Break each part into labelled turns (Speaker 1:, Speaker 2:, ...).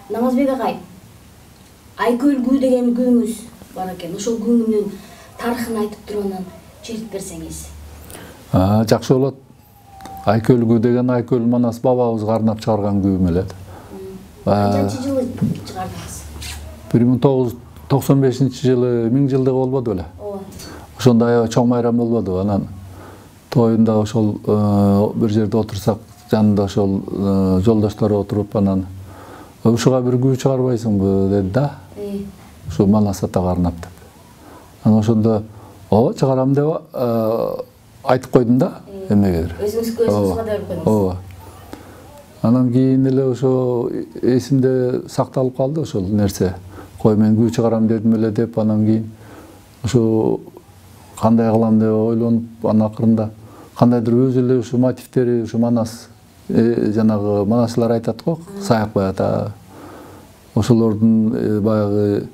Speaker 1: Намазбек агай, Айкөл күү деген күүңүз бар экен. Ошол күүнүн тарыхын айтып туруп анан чертип берсеңиз.
Speaker 2: Жакшы болот. Айкөл күү деген Айкөл Манас бабабыз карнап чыгарган күү мелет.
Speaker 1: Канчанчы жылы чыгардыңыз?
Speaker 2: 1995-жылы 1000 жылдыгы болбоду беле?
Speaker 1: Ооба.
Speaker 2: Ошондо аябай чоң майрам болбоду. Анан тоюнда ошол бир жерде отурсак, жанында ошол жолдоштор отуруп, анан ушуга бир күү чыгарбайсыңбы деди да. Ушу Манас ата карнап деп. Анан ошондо ооба чыгарам деп айтып койдум да, эмнегедир.
Speaker 1: Өзүңүзгө өзүңүз кадар койдуңуз.
Speaker 2: Ооба. Анан кийин эле ошо эсимде сакталып калды ошол нерсе. Кой мен күү чыгарам дедим эле деп, анан кийин ошо кандай кылам деп ойлонуп, анан акырында кандайдыр өзү эле ушу мотивтери, ушу Манас жанагы манасчылар айтат го, Саякбай ата. Ошолордун баягы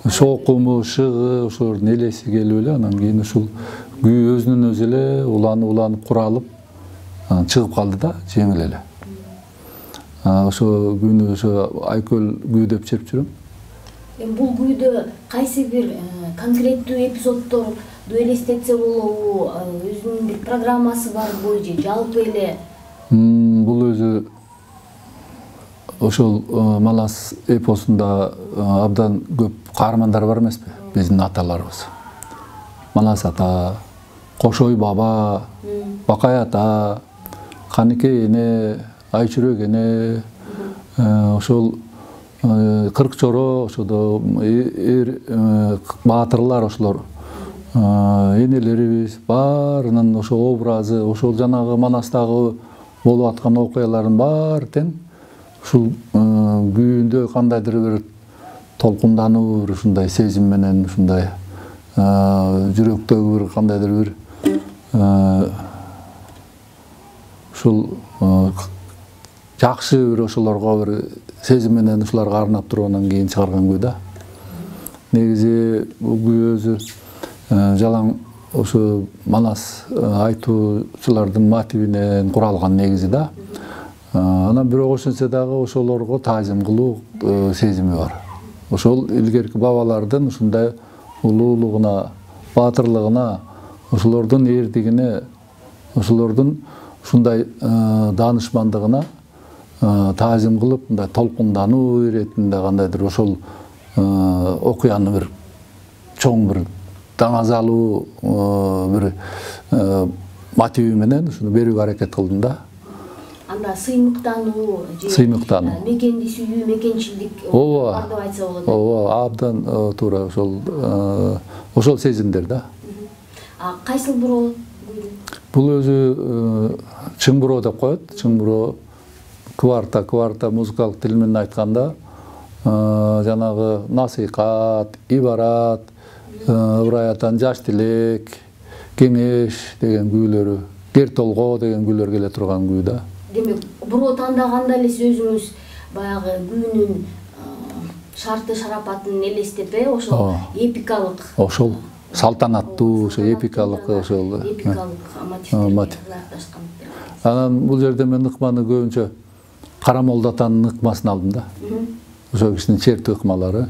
Speaker 2: шоокуму, шыгы, ошолордун элеси келип эле, анан кийин ушул күү өзүнүн өзү эле уланып куралып чыгып калды да, жеңил эле. Ошо күүнү ошо Айкөл күү деп чеп жүрөм.
Speaker 1: Бул күүдө кайсы бир конкреттүү эпизоддорду элестетсе болобу, өзүнүн бир программасы барбы же жалпы эле?
Speaker 2: Бул өзү ошол Манас эпосунда абдан көп каармандар бар эмеспи, биздин аталарыбыз. Манас ата, Кошой баба, Бакай ата, Каныкей эне, Айчүрөк эне, ошол Кыркчоро, ошодо баатырлар ошолор, энелерибиз баарынын ошо образы, ошол жанагы Манастагы болуп аткан окуялардын баары тең ушул күүндө кандайдыр бир толкундануу, бир ушундай сезим менен, ушундай жүрөктөгү бир кандайдыр бир ушул жакшы бир ошолорго бир сезим менен ушуларга арнап туруп анан кийин чыгарган күү да. Негизи бул күү өзү жалаң ошо Манас айтуучулардын мотивинен куралган негизи да. Анан бирок ошентсе дагы ошолорго таазим кылуу сезими бар. Ошол илгерки бабалардын ушундай улуулугуна, баатырлыгына, ошолордун эрдигине, ошолордун ушундай даанышмандыгына таазим кылып, мындай толкундануу иретинде кандайдыр ошол окуяны бир чоң бир даңазалуу бир мотиви менен ушуну берүүгө аракет кылдым да.
Speaker 1: Анда сыймыктануу же мекенди сүйүү, мекенчилдик бар деп айтса болот.
Speaker 2: Ооба, абдан туура ошол сезимдер да.
Speaker 1: Кайсыл буроо?
Speaker 2: Бул өзү чың буроо деп коет. Чың буроо кварта музыкалык тил менен айтканда жанагы насыйкат, ибарат, ыбыраятан жаш тилек, кеңеш деген күүлөрү, кер толго деген күүлөр келе турган күү да.
Speaker 1: Демек, буруу тандаганда эле сиз өзүңүз баягы күүнүн шарты шарапатын элестеп, ошол эпикалык,
Speaker 2: ошол салтанаттуу, ошо эпикалык, ошол
Speaker 1: мотивдер.
Speaker 2: Анан бул жерде мен ыкманы көбүнчө Кара Молдо атанын ыкмасын алдым да. Ошол кишинин чертүү ыкмалары.